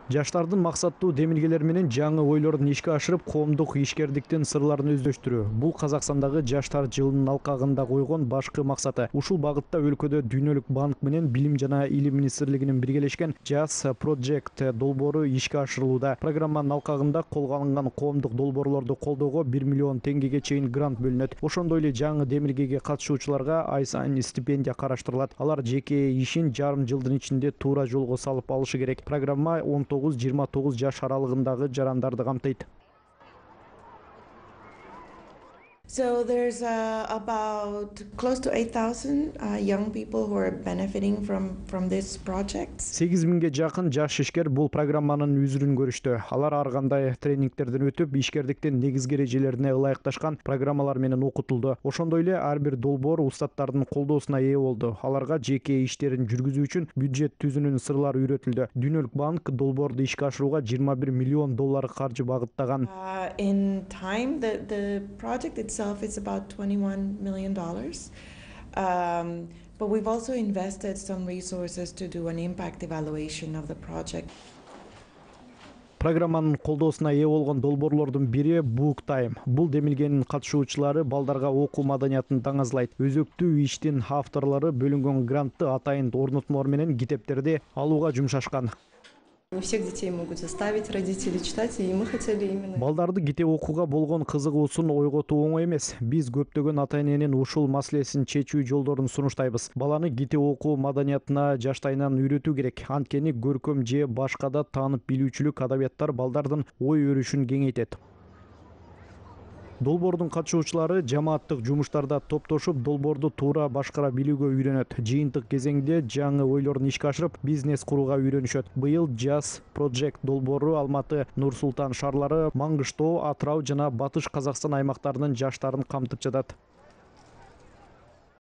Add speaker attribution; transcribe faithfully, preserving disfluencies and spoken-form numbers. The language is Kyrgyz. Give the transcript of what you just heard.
Speaker 1: Жаштардын максаттуу демилгелер менен жаңы ойлорун ишке ашырып, коомдук ишкердиктин сырларын өздөштүрүү. Бул Казакстандагы Жаштар жылынын алкагында койгон башкы максаты. Ушул багытта өлкөдө Дүйнөлүк банк менен Билим жана Илим министрлигинин биргелешкен Jazz Project долбоору ишке ашырылууда. Программанын алкагында колго алынган коомдук долбоорлорду колдоого бир миллион теңгеге чейин грант бөлүнөт. Ошондой эле жаңы демилгеге катышуучуларга ай сайын стипендия караштырылат. Алар жеке ишин жарым жылдын ичинде туура жолго салып алышы керек. Программа он тогуз жыйырма тогуз жаш аралыгындагы жарандарды камтыйт.
Speaker 2: So there's uh, about close to eight thousand uh, young people who are benefiting from from this project.
Speaker 1: сегиз миңге жакын жаш ишкер бул программанын үзүрүн көрүштү. Алар ар кандай тренингтерден өтүп, ишкердиктин негизги эрежелерине ылайыкташкан программалар менен окутулду. Ошондой эле ар бир долбоор устаттардын колдоосуна ээ болду. Аларга жеке иштерин жүргүзүү үчүн бюджет түзүүнүн сырлары үйрөтүлдү. Дүйнөлүк банк долбоорду ишке ашырууга жыйырма бир миллион доллар каржы багыттаган.
Speaker 2: Uh, in time, the the project itself is about twenty-one million dollars. Um, but we've also invested some resources to do an impact evaluation of the project.
Speaker 1: Программанын колдоосуна ээ болгон долбоорлордун бири Book Time. Бул демилгенин катышуучулары балдарга окуу маданиятын таңазлайт. Өзөктүү иштин авторлору бөлүнгөн грантты атайын орнотмолор менен китептерди алууга жумшашкан.
Speaker 3: Не всех детей могут заставить родители читать, и мы хотели именно...
Speaker 1: Балдарды китеп окууга болгон кызыгуусун ойготуу оңой эмес. Биз көптөгөн ата-эненин ушул маселесин чечүү жолдорун сунуштайбыз. Баланы китеп окуу маданиятына жаштайынан үйрөтүү керек. Анткени көркөм же башка да таанып билүүчүлүк адабияттар балдардын ой өрүшүн кеңейтет. Долбоордун катышуучулары жамааттык жумуштарда топтошуп, долбоорду туура башкара билүүгө үйрөнөт. Жыйынтык кезеңде жаңы ойлорун ишке ашырып, бизнес курууга үйрөнүшөт. Быйыл Jazz Project долбоору Алматы, Нур Султан шаарлары, Маңгыштоо, Атырау жана Батыш Казакстан аймактарынын жаштарын камтып жатат.